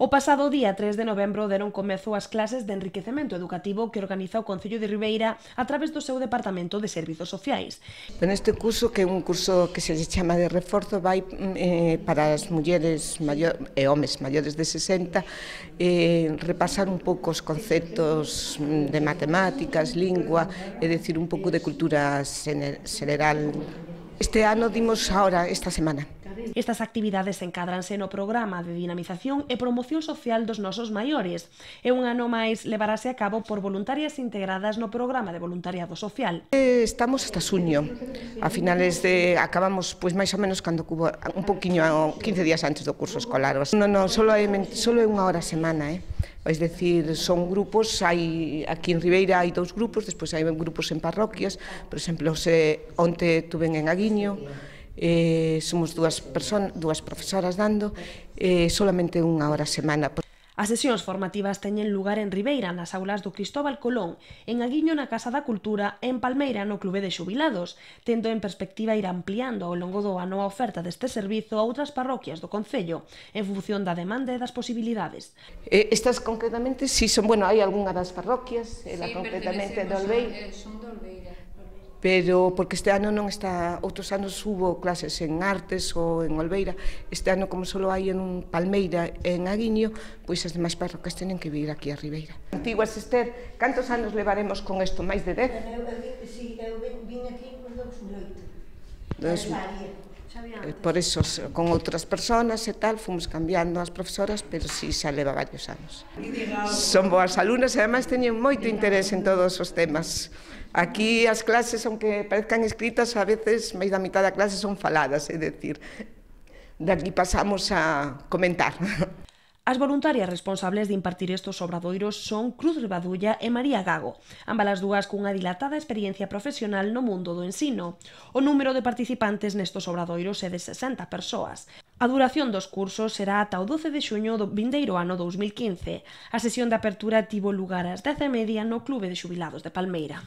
O pasado día 3 de novembro deron comezo as clases de enriquecemento educativo que organiza o Concello de Ribeira a través do seu Departamento de Servizos Sociais. Neste curso, que é un curso que se chama de reforzo, vai para as mulleres e homes maiores de 60, repasar un pouco os conceptos de matemáticas, lingua, é dicir, un pouco de cultura xeral. Este ano dimos ahora, esta semana. Estas actividades encádranse no programa de dinamización e promoción social dos nosos maiores e un ano máis levarase a cabo por voluntarias integradas no programa de voluntariado social. Estamos hasta xuño, a finales de... acabamos pois máis ou menos cando cubo un poquinho 15 días antes do curso escolar. Non, solo é unha hora a semana, É dicir, son grupos, aquí en Ribeira hai 2 grupos, despois hai grupos en parroquias, por exemplo, onte tuven en Aguiño, somos dúas profesoras dando, solamente unha hora a semana. As sesións formativas teñen lugar en Ribeira, nas aulas do Cristóbal Colón, en Aguiño na Casa da Cultura e en Palmeira no Clube de Xubilados, tendo en perspectiva ir ampliando ao longo do ano a oferta deste servizo a outras parroquias do Concello, en función da demanda e das posibilidades. Estas concretamente, si son, hai algunha das parroquias, concretamente de Olveira. Son de Olveira. Pero porque este ano non está, outros anos hubo clases en Artes ou en Olveira, este ano como só hai en Palmeira e en Aguiño, pois as demais parroquias tenen que vir aquí a Ribeira. Antiguas, Esther, cantos anos levaremos con isto? Máis de 10? Si, eu vin aquí con 2008. Por eso, con outras persoas e tal, fomos cambiando as profesoras, pero si xa leva varios anos. Son boas alumnas e ademais teñen moito interés en todos os temas. Aquí as clases, aunque parezcan escritas, a veces máis da mitad da clase son faladas, é dicir, de aquí pasamos a comentar. As voluntarias responsables de impartir estes obradoiros son Cruz Ribadulla e María Gago, ambas dúas cunha dilatada experiencia profesional no mundo do ensino. O número de participantes nestes obradoiros é de 60 persoas. A duración dos cursos será ata o 12 de xuño do vindeiro ano 2015. A sesión de apertura tivo lugar ás 10:30 no Clube de Xubilados de Palmeira.